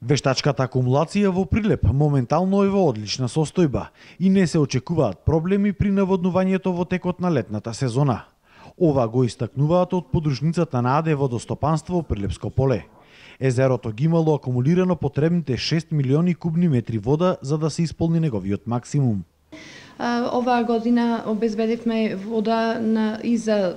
Вештачката акумулација во Прилеп моментално е во одлична состојба и не се очекуваат проблеми при наводнувањето во текот на летната сезона. Ова го истакнуваат од подружницата на АД Водостопанство Прилепско поле. Езерото ги имало акумулирано потребните 6 милиони кубни метри вода за да се исполни неговиот максимум. Оваа година обезбедивме вода и за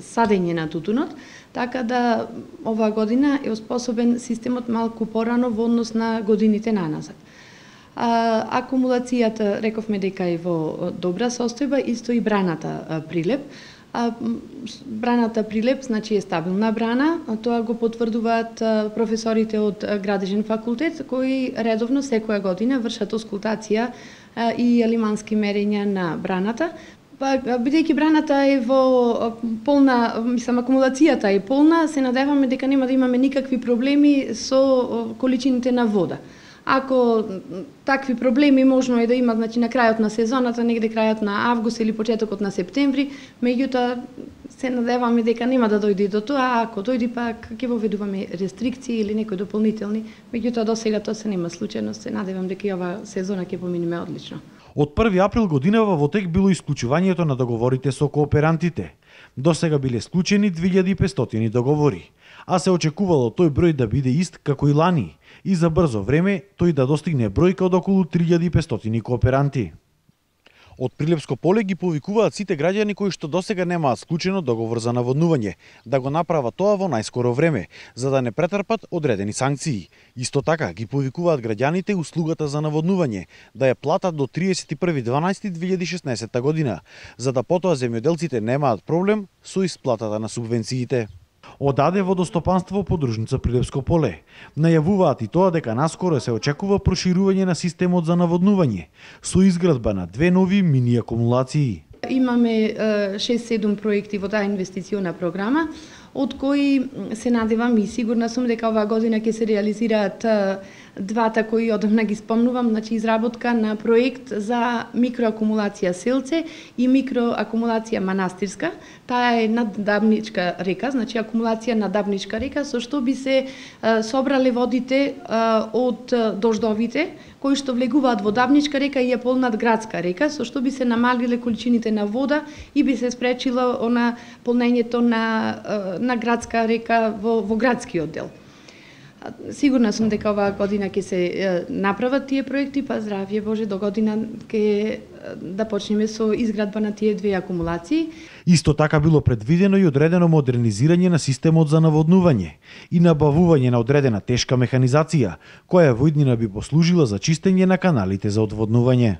садење на тутунот, така да оваа година е оспособен системот малку порано во однос на годините наназад. Акумулацијата рековме дека е во добра состојба, исто и браната Прилеп. Браната Прилеп значи е стабилна брана, тоа го потврдуваат професорите од Градежен факултет кои редовно секоја година вршат оскултација и алимански мерења на браната. Бидејќи браната е во полна, акумулацијата е полна, се надеваме дека нема да имаме никакви проблеми со количините на вода. Ако такви проблеми можно е да има, значи на крајот на сезоната, негде крајот на август или почетокот на септември, меѓутоа се надеваме дека нема да дојде до тоа, ако дојде пак ќе воведуваме рестрикции или некои дополнителни, меѓутоа до сега тоа се нема случајно, се надевам дека и оваа сезона ќе поминеме одлично. Од 1 април годинава во тек било исклучувањето на договорите со кооперантите. До сега биле склучени 2500 договори, а се очекувало тој број да биде ист како и лани и за брзо време тој да достигне бројка од околу 3500 кооперанти. Од Прилепско поле ги повикуваат сите граѓани кои што досега немаат склучено договор за наводнување да го направат тоа во најскоро време, за да не претрпат одредени санкции. Исто така ги повикуваат граѓаните услугата за наводнување да ја платат до 31.12.2016 година, за да потоа земјоделците немаат проблем со исплатата на субвенциите. Од АД Водостопанство подружница Прилепско поле најавуваат и тоа дека наскоро се очекува проширување на системот за наводнување со изградба на 2 нови мини акумулации. Имаме 6-7 проекти во таа инвестициона програма, од кои се надевам и сигурна сум дека оваа година ќе се реализираат двата кои одамна ги спомнувам, значи изработка на проект за микроакумулација Селце и микроакумулација Манастирска. Таа е над Дабничка река, значи акумулација на Дабничка река, со што би се собрале водите од дождовите кои што влегуваат во Дабничка река и ја полнат Градска река, со што би се намалиле количините на вода и би се спречило полнењето на Градска река во градскиот дел. Сигурна сум дека оваа година ќе се направат тие проекти, па здравје Боже, до година ќе да почнеме со изградба на тие 2 акумулации. Исто така било предвидено и одредено модернизирање на системот за наводнување и набавување на одредена тешка механизација, која во иднина би послужила за чистење на каналите за одводнување.